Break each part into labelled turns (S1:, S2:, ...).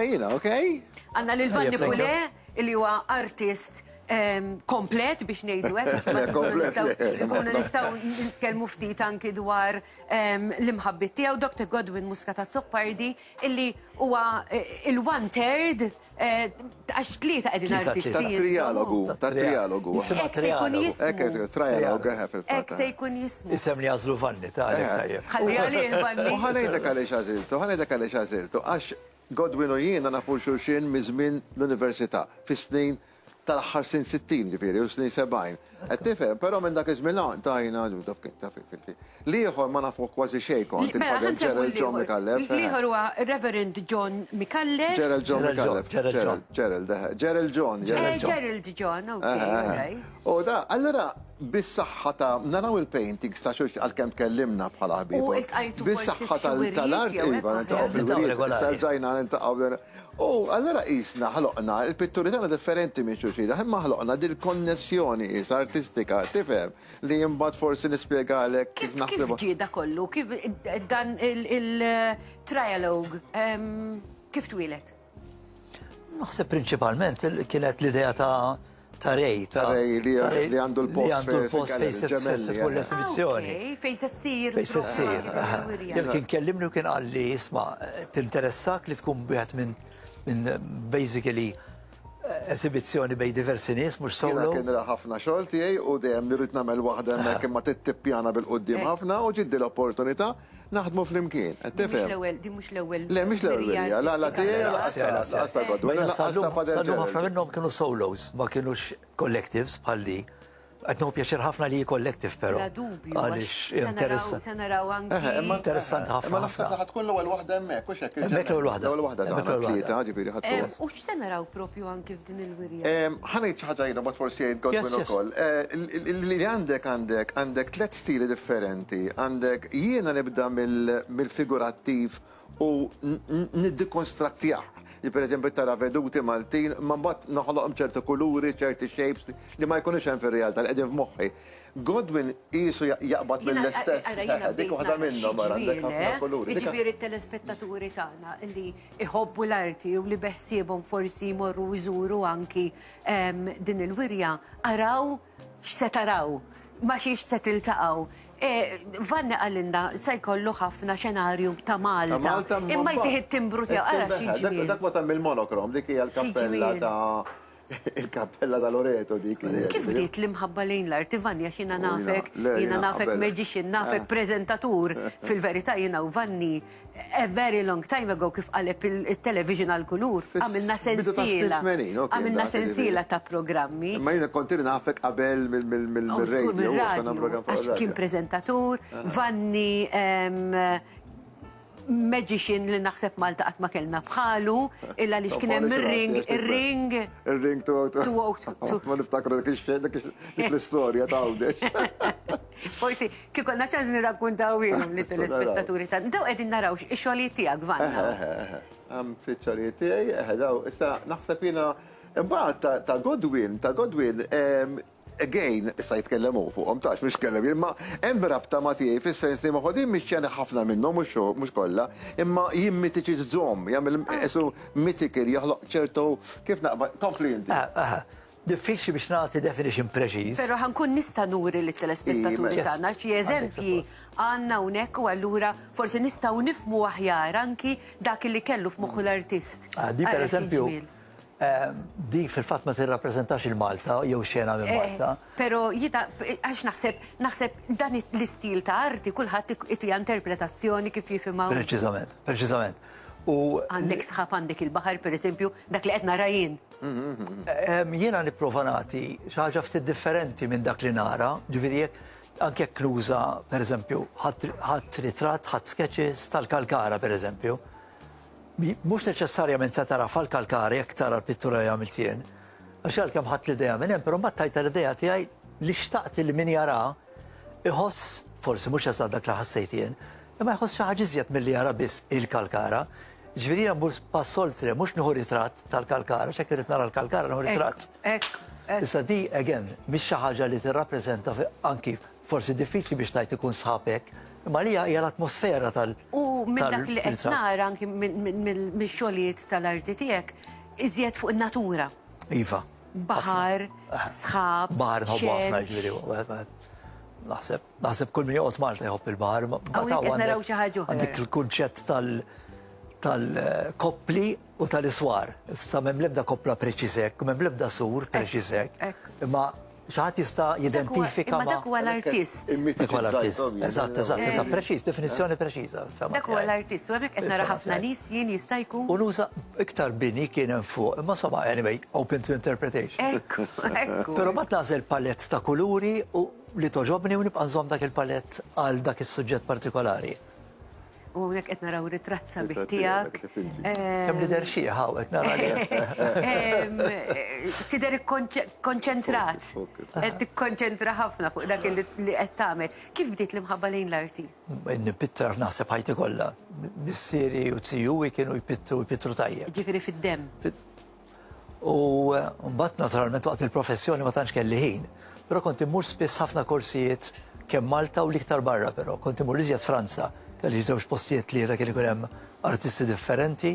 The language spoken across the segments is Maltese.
S1: Jiena, okay?
S2: Għandna lil Vanni Pulè, li huwa artist komplet biex ngħidu hekk, nkunu nistgħu nitkellmu ftit anki dwar l-imħabbiet tiegħu, Dr. Godwin Muscat Azzopardi, illi huwa il-one third għax tlieta qegħdin artisti.
S1: Tat-trialogu, tat-trialogu.
S2: Hekk se jkun jismu.
S1: Hekk trialogu, eħe fil-fatt.
S2: Hekk se jkun jismu.
S3: Isem li għażlu Vanni, ta' għalhekk tajjeb.
S2: Ħalli għalih Vanni.
S1: U ħa ngħidlek għaliex għażiltu, ħa ngħidlek għaliex għażiltu, għax Godwin u jiena nafu 'l xulxin miż-żmien l-università, fis-snin tal-aħħar snin 60 ġifieri u snin 70. Qed tifhem? Però minn dak iż-żmien 'l hawn tajna taf kif taf kif. L-ieħor ma nafuh kważi xejn kont, il-Father Gerald John Micallef.
S2: L-ieħor huwa Reverend John Micallef.
S1: Gerald John Micallef. Gerald John. Gerald, eħe. Gerald John.
S2: Gerald John, ok, all right.
S1: U da, allura bis-saħħa ta' naraw il-paintings ta' xulxin għalkemm tkellimna bħala ħbieb.
S2: U iltqajtu forsi
S1: Bis-saħħa tal-art, iva, niltaqgħu fil-wirjiet, issa rġajna niltaqgħu. U allura qisna ħloqna, il-pitturi tagħna differenti minn xulxin, imma ħloqna dil-konnessjoni qisha artistika, tifhem, li imbagħad forsi nispjegalek kif naħsibha.
S2: Kif ġie da kollu? Kif dan il-trialogue, kif twieled?
S3: Naħseb prinċipalment kienet l-idea ta' ta' Ray.
S1: Ta' Ray li għandu l-post.
S3: Li għandu l-post fejn se tkun l-esibizzjoni.
S2: Ah, fejn se ssir.
S3: Fejn se ssir. Jien kien kellimni u kien qalli isma' tinteressak li tkun wieħed minn basically esibizzjoni bejn diversi nies mhux solo.
S1: Jiena kien ra ħafna xogħol tiegħi u dejjem li rrid nagħmel waħda hemmhekk imma trid tippjana bil-quddiem ħafna u ġiet din l-opportunità naħdmu flimkien. Qed tifhem?
S2: Din mhux l-ewwel.
S1: Le mhix l-ewwel wirja, la la tiegħi u lanqas ta' Godwin u lanqas ta' Father
S3: Sal-lum ħafna minnhom kienu solos, ma kinux collectives bħal di. Qed nieħu pjaċir ħafna li hi collective però.
S2: Bla dubju.
S3: Għaliex
S2: interessa. Se naraw anki.
S3: Interessanti ħafna.
S1: Imma naħseb li ħa tkun l-ewwel waħda hemmhekk, hux hekk?
S3: Hemmhekk l-ewwel waħda.
S1: L-ewwel waħda tagħna tlieta, ġifieri ħa tkun.
S2: U x'se naraw propju anki f'din il-wirja?
S1: Ħa ngħid xi ħaġa jiena mbagħad forsi jgħid Godwin ukoll. Li għandek għandek għandek tlett stili differenti. Għandek jiena nibda mill-figurattiv u niddikonstrattjah. Li pereżempju tara veduti Maltin, imma mbagħad noħloqhom ċerti kuluri, ċerti shapes li ma jkunux hemm fir-realtà li qegħdin f'moħħi. Godwin qisu jaqbad mill-istess. Dik waħda minnhom ara għandek ħafna kuluri.
S2: Jiġifieri t-telespettaturi tagħna li jħobbu l-arti u li beħsiebhom forsi jmorru jżuru anki din il-wirja, araw x'se taraw, ma' xiex se tiltaqgħu. Vanni qalilna se jkollu ħafna xenarju ta' Malta. Imma jtih it-timbru tiegħu, ara xi ġmiel.
S1: Dak ma ta' mill-monokrom, dik hija l-kappella ta' il-kappella ta' Loreto dik.
S2: Kif bdiet l-imħabba lejn l-arti Vanni għax jiena nafek, jiena nafek magician, nafek preżentatur. Fil-verità jiena u Vanni A very long time ago kif qaleb it-television għall-kulur, għamilna sensiela. Għamilna sensiela ta' programmi.
S1: Imma jiena kont ili nafek qabel mill-radio.
S2: Għax kien preżentatur, Vanni magician li naħseb Malta qatt ma kellna bħalu, illa għaliex kien hemm ir-ring, ir-ring.
S1: Ir-ring 202. Ma niftakru dik ix-xejn, dik l-istorja ta' Għawdex.
S2: Forsi Kif konna ċans nirrakkuntawhielhom lit-telespettaturi tagħna. Daw qegħdin naraw ix-xogħlijiet tiegħek, Vanna.
S1: Eħe, eħe, eħe. Hemm ftit xogħlijiet tiegħi, eħe daw. Issa naħseb jiena imbagħad ta' Godwin, ta' Godwin, again, issa jitkellem hu fuqhom tax mhux tkellem jien, imma hemm rabta ma' tiegħi fis-sens li ma' din mix-xena ħafna minnhom mhux kollha, imma jimmitiċizzhom, jagħmel qisu mythical, joħloq ċertu kif naqbad, kompli inti.
S3: Eħe. Diffiċli biex nagħti definition preċiż.
S2: Però ħa nkun nista' nuri lit-telespettaturi tagħna xi eżempji għandna hawnhekk u allura forsi nistgħu nifhmu aħjar anki dak li kellu f'moħħu l-artist.
S3: Di pereżempju, di fil-fatt ma tirrappreżentax il-Malta jew xena minn Malta.
S2: Però jiena għax naħseb naħseb dan l-istil ta' arti kulħadd itiha interpretazzjoni kif jifhimha hu.
S3: Preċiżament, preċiżament. U
S2: Għandek sħab għandek il-baħar pereżempju, dak li qed nara jien.
S3: Jiena nipprova nagħti xi ħaġa ftit differenti minn dak li nara, ġifieri jekk anke jekk nuża pereżempju ħadt ritratt, ħadt sketches tal-Kalkara pereżempju. Mhux neċessarjament se tara fal-Kalkara jekk tara l-pittura li għamilt jien. Għax għalkemm ħadt l-idea minn hemm, però mbagħad tajtha l-idea tiegħi li xtaqt li min jara iħoss, forsi mhux eżatt dak li ħassejt jien, Imma jħoss xi ħaġa iżjed milli jara biss il-kalkara. Jiġifieri jiena mmur pass oltre, mhux nieħu ritratt tal-kalkara, għax jekk irrid nara l-kalkara nieħu ritratt.
S2: Hekk, hekk.
S3: Issa di, again, mhix xi ħaġa li tirrappreżenta anki forsi diffiċli biex tgħid ikun sħab hekk. Imma għalija hija l-atmosfera tal.
S2: U minn dak li qed nara anki mix-xogħlijiet tal-arti tiegħek, iżjed fuq in-natura.
S3: Iva.
S2: Baħar, sħab.
S3: Baħar nħobbu ħafna ġifieri. Naħseb, naħseb kull min joqgħod Malta jħobb il-baħar.
S2: Hawnhekk qed naraw xi ħaġa oħra.
S3: Għandek il-kunċett tal-koppli u tal-iswar. Issa m'hemm l-ebda koppla preċiż hekk, m'hemm l-ebda sur preċiż hekk. Imma xi ħadd jista' jidentifika
S2: ma. Dak huwa l-artist.
S3: Dak huwa l-artist. Eżatt, eżatt, eżatt, preċiż, definizzjoni preċiża.
S2: Dak huwa l-artist, u hemmhekk qed nara ħafna nies jien jista' jkun.
S3: U nuża iktar bini kien hemm fuq, imma insomma, anyway, open to interpretation.
S2: Ekku, ekku.
S3: Però mbagħad nagħżel palett ta' kuluri u li togħġobni u nibqa' nżomm dak il-palett għal dak is-suġġett partikolari.
S2: U hawnhekk qed naraw ritratt sabiħ tiegħek.
S3: Kemm nidher xiħ hawn qed nara li.
S2: Tidher ikkonċentrat. Qed tikkonċentra ħafna fuq dak li qed tagħmel. Kif bdiet l-imħabba lejn l-arti?
S3: Nipittra naħseb ħajti kollha. Missieri u zijuwi kienu jpittru jpittru tajjeb.
S2: Ġifieri fid-demm.
S3: U mbagħad naturalment waqt il-professjoni ma tantx kelli ħin. Però kont immur spiss ħafna korsijiet kemm Malta u l-iktar barra però. Kont immur iżjed Franza, kelli żewġ postijiet tlieta kien ikun hemm artisti differenti,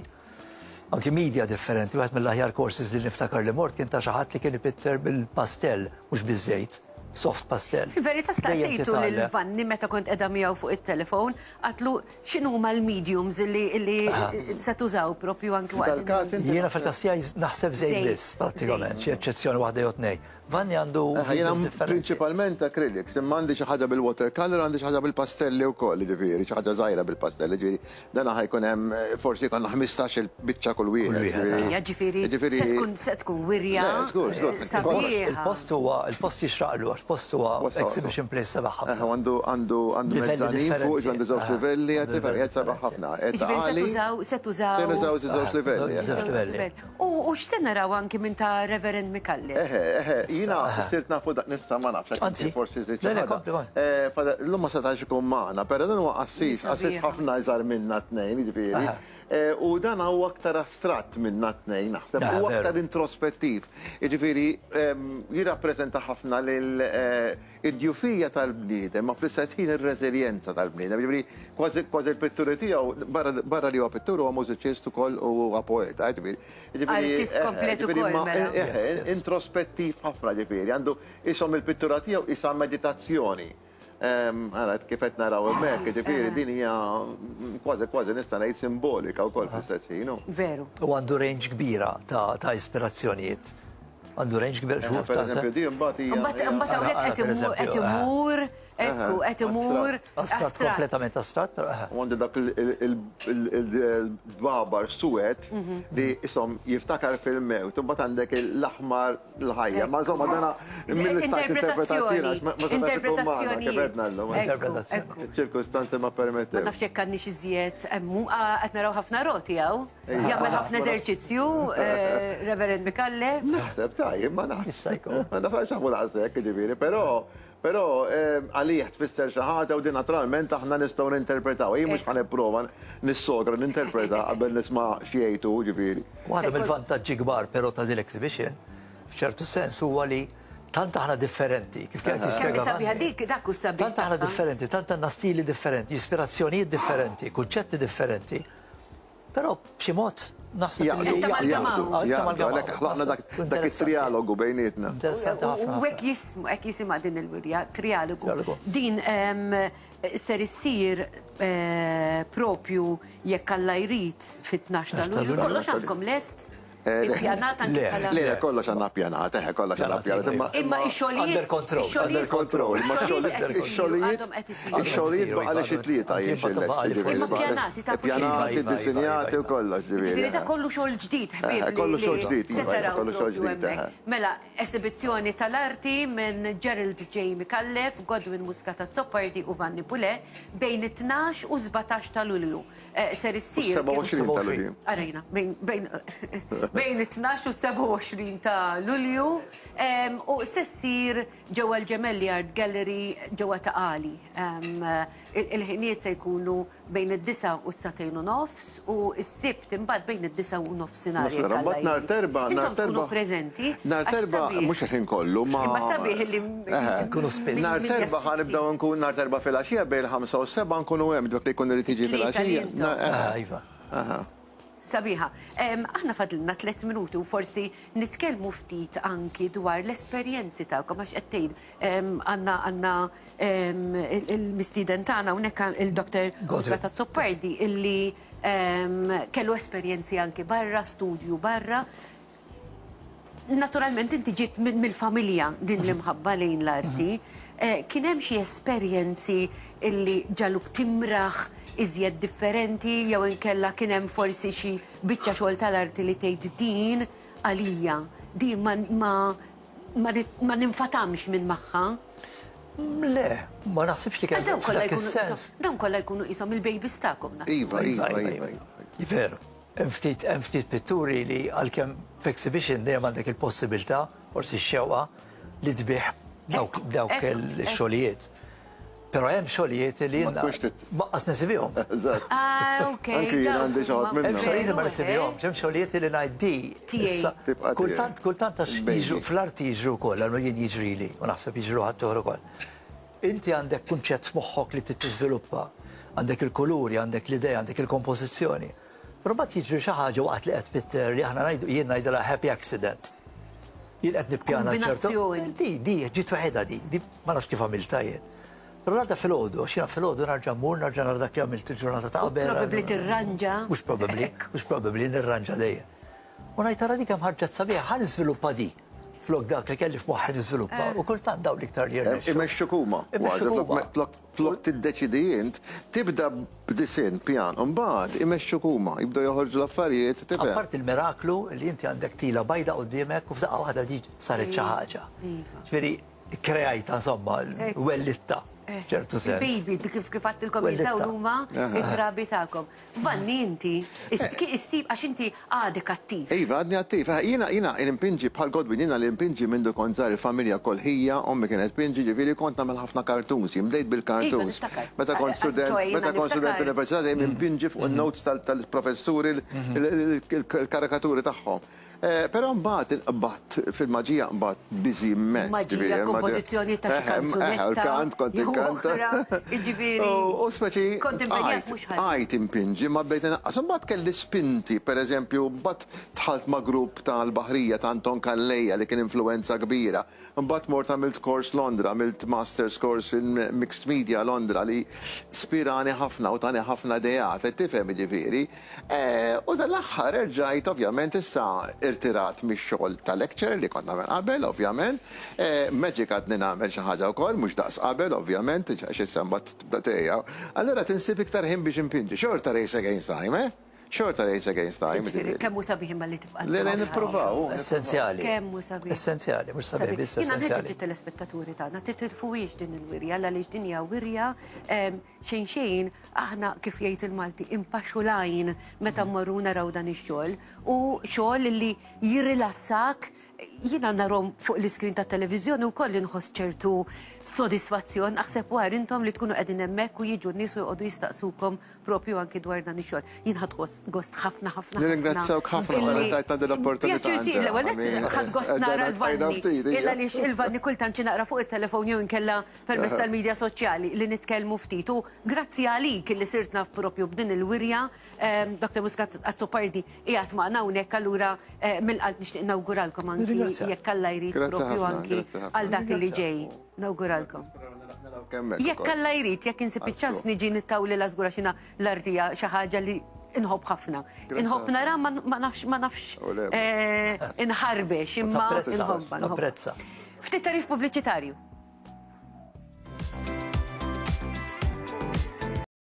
S3: anki media differenti. Wieħed mill-aħjar courses li niftakar li mort kien ta' xi ħadd li kien ipitter bil-pastell mhux biż-żejt, soft pastell.
S2: Fil-verità staqsejtu lil Vanni meta kont qiegħda miegħu fuq it-telefon, għadtlu X'inhuma l-mediums li se tużaw propju anki
S1: waqt.
S3: Jiena fil-każ tiegħi naħseb żejt biss prattikament, xi eċċezzjoni waħda jew tnejn. Vanni għandu
S1: Jiena prinċipalment acrylics, imma għandi xi ħaġa bil-watercolour, għandi xi ħaġa bil-pastelli wkoll, jiġifieri xi ħaġa żgħira bil-pastelli, jiġifieri dan ħa jkun hemm forsi jkollna 15-il biċċa kull wieħed.
S2: Ejja, ġifieri se tkun wirja sabiħa.
S3: Il-post huwa, il-post jixraqlu għax post huwa exhibition place sabiħ ħafna.
S1: Għandu għandu għandu mezzanin fuq, għandu żewġ livelli, qed tifhem, qiegħed sabiħ ħafna.
S2: Ġifieri se tużaw, se tużaw.
S1: Se nużaw żewġ livelli.
S3: Żewġ livelli.
S2: U x'se naraw anki minn ta' Reverend Micallef?
S1: Eħe, eħe, jiena sirt nafu dak nista' ma nafx.
S3: Anzi,
S1: forsi żidt xi ħaġa. Llum ma setax ikun magħna, però dan huwa qassis, qassis ħafna iżgħar minna t-tnejn, jiġifieri. U dan huwa aktar astratt minna t-tnejn, naħseb, huwa aktar introspettiv. Jiġifieri jirrappreżenta ħafna lil id-djufija tal-bniedem, ma fl-istess ħin ir-reżiljenza tal-bniedem. Jiġifieri kważi kważi l-pitturi tiegħu barra li huwa pittur huwa mużiċist ukoll u huwa poeta, jiġifieri.
S2: Artist komplet ukoll mela.
S1: Introspettiv ħafna ġifieri, għandu ishom il-pittura tiegħu qisha meditazzjoni. Ara kif qed naraw hemmhekk, jiġifieri din hija kważi kważi nista' ngħid simbolika wkoll fl-istess ħin.
S2: Veru.
S3: U għandu range kbira ta' ispirazzjonijiet. Għandu range kbir x'hu
S1: ta' Pereżempju din imbagħad hija.
S2: Imbagħad hawnhekk qed imur, ekku, qed imur.
S3: Astratt, kompletament astratt, però.
S1: U għandu dak il-dbabar suwed li ishom jiftakar fil-mewt, imbagħad għandek l-aħmar l-ħajja. Ma insomma dana mill-istat interpretazzjoni.
S2: Interpretazzjoni.
S1: Interpretazzjoni. Ċirkustanzi ma permettew.
S2: Ma nafx jekk għandniex iżjed qed naraw ħafna roti hawn. Jagħmel ħafna eżerċizzju, Reverend Mikalle.
S1: Naħseb tajjeb, ma nafx. Ma nafx għax daqshekk, jiġifieri, però Però għalih tfisser xi ħaġa u din naturalment aħna nistgħu ninterpretaw. Jien mhux ħa nipprova nissogra ninterpreta qabel nisma' x'jgħid hu, ġifieri.
S3: Waħda mill-vantaġġi kbar però ta' din l-exhibition, f'ċertu sens, huwa li tant aħna differenti, kif kien qed jispjega
S2: Kemm hi sabiħa dik, dak hu s-sabiħ
S3: Tant aħna differenti, tant għandna stili differenti, ispirazzjonijiet differenti, kunċetti differenti, Però b'xi mod naħseb
S1: li
S2: jaqdu.
S1: Jaqdu, għalhekk ħloqna dak it-trialogu bejnietna.
S3: Interessanti ħafna.
S2: U hekk jismu, hekk jisimha din il-wirja, trialogu. Din ser issir propju jekk Alla jrid fit-12 ta' Lulju. Kollox għandkom lest? Ippjanat anki bħala.
S1: Le, kollox għandna ppjanat, eħe, kollox għandna ppjanat.
S2: Imma x-xogħlijiet.
S3: Under control.
S1: Under control. Imma x-xogħlijiet. Ix-xogħlijiet baqa' li xi tlieta jien xi lesti ġifieri.
S2: Imma ppjanati ta'
S1: Ppjanati, iddisinjati u kollox ġifieri.
S2: Ġifieri da kollu xogħol ġdid ħbieb.
S1: Kollu xogħol ġdid, iva, kollu xogħol ġdid.
S2: Mela, esibizzjoni tal-arti minn Gerald J. Micallef, Godwin Muscat Azzopardi u Vanni Pulè bejn it-12 u 17 ta' Lulju. Ser issir.
S1: 27 ta' Lulju.
S2: Arajna, bejn bejn Bejn it-12 u 27 ta' Lulju u se ssir ġewwa l-Gemelli Art Gallery ġewwa Ta' Qali. Il-ħinijiet se jkunu bejn id-disgħa u s-sagħtejn u nofs u s-Sibt imbagħad bejn id-disgħa u nofsinhar jekk Alla
S1: Mbagħad nhar
S2: jrid.
S1: t'Erbgħa, nhar
S2: Intom tkunu
S1: t'Erbgħa,
S2: preżenti
S1: nhar
S2: għax
S1: t'Erbgħa
S2: sabiħ.
S1: mhux il-ħin kollu ma
S2: Imma sabiħ illi
S1: Eħe.
S3: Nkunu spiss.
S2: min
S1: Nhar
S2: min
S1: t'Erbgħa ħa
S2: jassisti.
S1: nibdew nkun nhar t'Erbgħa filgħaxija bejn il-ħamsa u s-sebgħa nkunu hemm dak li jkun irid jiġi
S2: It-tlieta li
S1: filgħaxija.
S2: intom.
S1: Eħe.
S3: Ah, iva.
S1: Aha.
S2: Sabiħa. Aħna fadlilna tlett minuti u forsi nitkellmu ftit anki dwar l-esperjenzi tagħkom għax qed tgħid għandna għandna il-mistieden tagħna hawnhekk il-Dr. Muscat Azzopardi illi kellu esperjenzi anki barra, studju barra. Naturalment inti ġiet mill-familja din l-imħabba lejn l-arti. Kien hemm xi esperjenzi illi ġagħluk timraħ iżjed differenti jew inkella kien hemm forsi xi biċċa xogħol tal-arti li tgħid din għalija, din ma ma ma ninfatamx minn magħha?
S3: Le, ma naħsibx li kien
S2: f'dak is-sens. Dawn kollha jkunu qishom il-babies tagħkom.
S1: Iva, iva, iva.
S3: Veru. Hemm ftit hemm ftit pitturi li għalkemm f'exhibition dejjem għandek il-possibilità, forsi x-xewqa, li tbigħ dawk dawk ix-xogħlijiet. Però hemm xogħlijiet li
S1: Ma
S3: jiena
S1: tkunx trid.
S3: lanqas nesibihom.
S1: Eżatt.
S2: Ah, ok.
S1: Anki jien għandi xi ħadd
S3: Hemm
S1: minnhom.
S3: xogħlijiet li ma nesibihomx, hemm xogħlijiet li ngħid di
S2: Tiegħi.
S3: issa
S1: Tibqa' tiegħi.
S3: kultant kultant għax
S1: Baby.
S3: jiġru fl-arti jiġru wkoll, almenu jien jiġrili u naħseb jiġru ħaddieħor ukoll. Inti għandek kunċett f'moħħok li trid tiżviluppa, għandek il-kuluri, għandek l-idea, għandek il-kompożizzjoni. Però mbagħad jiġri xi ħaġa waqt li qed tpitter li aħna ngħidu jien ngħidilha happy accident. Jien qed nippjana ċertu.
S2: Kombinazzjoni.
S3: Di, di, ġiet waħedha di, di ma nafx kif għamiltha jien. Però l-għada filgħodu, għax jiena filgħodu narġa' mmur, narġa' nara dak li għamilt il-ġurnata ta' qabel.
S2: Probabbli tirranġa.
S3: Mhux probabbli, mhux probabbli nirranġa dejjem. U ngħid ara dik hemm ħarġet sabiħa, ħa niżviluppa di. Flok dak li kelli f'moħħi niżviluppa. U kultant dawn l-iktar li jirnexxu.
S1: Imexxuk huma.
S3: Imexxuk huma.
S1: Flok tiddeċidi int, tibda b'disinn, pjan, u mbagħad imexxuk huma, jibdew joħorġu l-affarijiet, tifhem.
S3: Apparti l-miraklu li inti għandek tila bajda quddiemek u f'daqqa waħda di saret xi ħaġa. Ġifieri kreajta insomma, wellitta f'ċertu sens.
S2: Il-baby, kif kif għedtilkom jien dawn huma it-trabi tagħkom. Vanni inti, issib għax inti għadek attiv.
S1: Iva, għadni attiv. Jiena jiena impinġi bħal Godwin, jiena li impinġi mindu kont żgħir il-familja koll ħija, ommi kienet tpinġi, ġifieri kont nagħmel ħafna cartoons, jien bdejt bil-cartoons. Meta kont student, meta kont student università dejjem impinġi fuq in-notes tal-professuri l-karikaturi tagħhom. Però mbagħad inqbadt fil-maġija nqbadt busy immens.
S2: Maġija, kompożizzjoni ta' xi kanzunetta.
S1: Eħe, l-kant kont inkanta.
S2: Jiġifieri.
S1: U speċi.
S2: Kont impenjat mhux ħażin.
S1: Bqajt impinġi ma bdejt inaqqas. Imbagħad kelli spinti, pereżempju, mbagħad dħalt ma' grupp tal-Baħrija ta' Anton Calleja li kien influwenza kbira. Imbagħad mort għamilt kors Londra, għamilt Masters course in Mixed Media Londra li spirani ħafna u tani ħafna ideat, qed tifhem jiġifieri. U dal-aħħar erġajt ovvjament issa irtirat mix-xogħol ta' lecturer li kont nagħmel qabel ovvjament. Magic għadni nagħmel xi ħaġa wkoll, mhux daqs qabel ovvjament, għax issa mbagħad tibda tgħejja. Allura tinsib iktar ħin biex inpinġi. Xorta race against time, eh? Xorta race against time.
S2: Jiġifieri kemm hu sabiħ imma li tibqa'
S1: Le, le, nippruvaw.
S3: Essenzjali.
S2: Kemm hu sabiħ.
S3: Essenzjali, mhux sabiħ biss
S2: Jiena
S3: essenzjali.
S2: nħeġġeġ it-telespettaturi tagħna titilfuhiex din il-wirja għaliex din hija wirja xejn xejn aħna kif jgħid il-Malti impaxxu l-għajn meta mmorru naraw dan ix-xogħol u xogħol li jirrilassak jiena narhom fuq l-iskrin tat-televiżjoni wkoll inħoss ċertu sodisfazzjon aħseb u ara intom li tkunu qegħdin hemmhekk u jiġu n-nies u joqogħdu jistaqsukom propju anki dwar dan ix-xogħol. Jien ħadt gost ħafna ħafna.
S1: Nirringrazzjawk ħafna talli tajtna din l-opportunità.
S2: Pjaċir tiegħi l-ewwel nett ħadt gost nara l-Vanni. Illa għaliex il-Vanni kultant xi naqra fuq it-telefon jew inkella permezz tal-media soċjali li nitkellmu ftit u grazzi għalik li sirt naf propju b'din il-wirja, Dr. Muscat Azzopardi qiegħed magħna hawnhekk allura mill-qalb nixtieq nawguralkom anki jekk Alla jrid propju anki għal dak li ġej. Nawguralkom. Jekk Alla jrid, jekk insib iċ-ċans niġi nittawlilha żgur għax jiena l-arti hija xi ħaġa li inħobb ħafna. Inħobb nara ma nafx ma nafx inħarbex imma inħobbha.
S3: Tapprezza.
S2: Ftit tagħrif pubbliċitarju.